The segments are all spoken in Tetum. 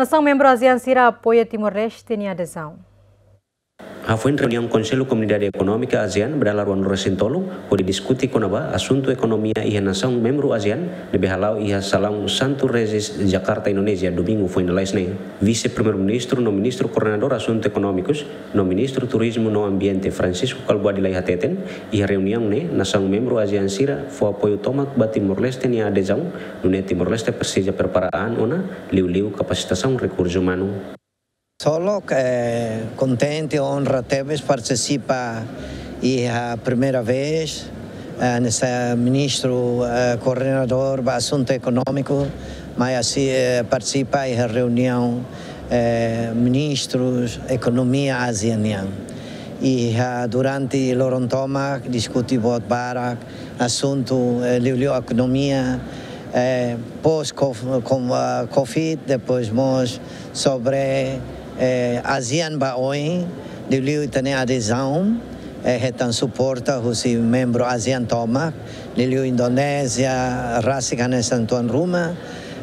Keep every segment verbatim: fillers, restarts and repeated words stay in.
Nasaun membru ASEAN sira apoia Timor-Leste nia adezaun. Hafoin reuniaun Konsellu Komunidade Ekonómika ASEAN ba dala ruanulu-resin-tolu, hodi diskute kona-ba asuntu ekonomia iha nasaun membru ASEAN, ne'ebé hala'o iha salaun Santo Regis, Jakarta, Indonézia, Domingu foin lalais ne'e. Vise-Primeiru-Ministru no Ministru Koordenadór Asuntu Ekonómikus, no Ministru Turizmu no Ambiente, Francisco Kalbuadi Lay hateten, iha reuniaun ne'e nasaun membru ASEAN sira fó apoiu tomak ba Timor-Leste nia adezaun, nune'e Timor-Leste presiza prepara an ona, liuliu kapasitasaun rekursu umanu. Solok, eh, kontente, onra tebes partisipa iha primeira vez, eh, hanesan Ministru, eh, Koordenadór ba Asuntu Ekonómiku, mai así, eh, partisipa iha reuniaun, eh, ministrus ekonomia ASEAN nian. Iha durante loron tomak diskute buat barak, asuntu, eh, liuliu ekonomia, eh, pós-Covid, depois mós sobre, eh, ASEAN ba oin, liuliu ita-nia adezaun, eh, hetan suporta husi membru ASEAN tomak, liuliu Indonézia, rasik hanesan tuan ruma,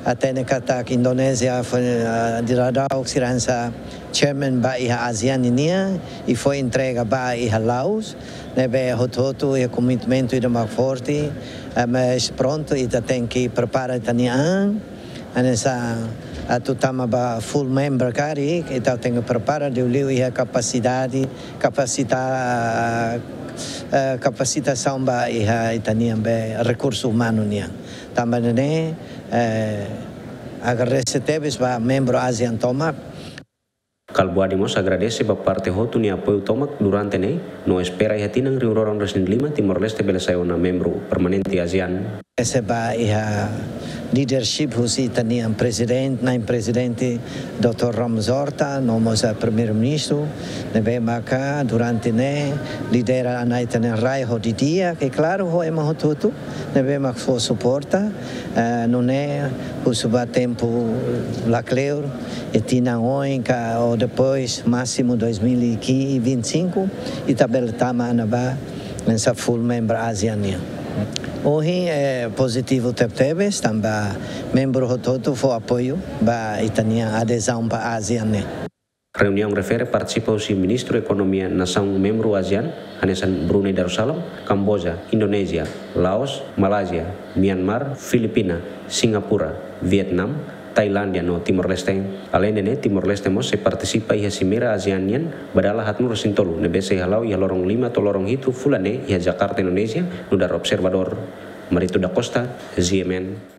hatene katak Indonézia foin, eh, daudaun sira hanesan chairman ba iha ASEAN nian, i foin entrega ba iha Laos, ne'ebé hotu-hotu iha komitmentu ida mak forte, eh, mas prontu ita tenke prepara ita-nia an, hanesan atu tama ba full member karik, ita tenke prepara liuliu iha kapasidade, kapasita-, eh, kapasitasaun ba iha ita-nia be rekursu umanu nian. Tanba ne'e, eh, agradese tebes ba membru ASEAN tomak. Kalbuadi mós agradese ba parte hotu nia apoiu tomak durante ne'e, no espera iha tinan rihun rua ruanulu-resin-lima Timor-Leste bele sai ona membru permanente ASEAN. Ese ba iha leadership husi ita-nia prezidente, na'in prezidente doutór Ramos Horta, no mós Primeiru-Ministru, ne'ebé maka durante ne'e lidera ona ita-nia rai ho di'ak, i klaru ho ema hotu-hotu, ne'ebé mak fó suporta, eh, nune'e husu ba tempu lakleur, iha tinan oin ka, ou depois, másimu dois mil e vinte e cinco, ita bele tama ona ba hanesan full member ASEAN nian. Ohin, eh, pozitivu tebetebes, tanba membru hotu-hotu fó apoiu ba ita-nia adezaun ba ASEAN ne'e. Reuniaun refere partisipa husi Ministru Ekonomia nasaun membru ASEAN, hanesan Brunei Darussalam, Kamboja, Indonézia, Laos, Malázia, Myanmar, Filipina, Singapura, Vietnam, Tailándia no Timor-Leste. Aleinde ne'e, Timor-Leste mós sei partisipa iha Simeira ASEAN nian ba dala haatnulu-resin-tolu, ne'ebé sei hala'o iha loron lima to'o loron hitu fulan ne'e iha Jakarta, Indonézia, nu'udar observadór. Marito da Costa, GMN.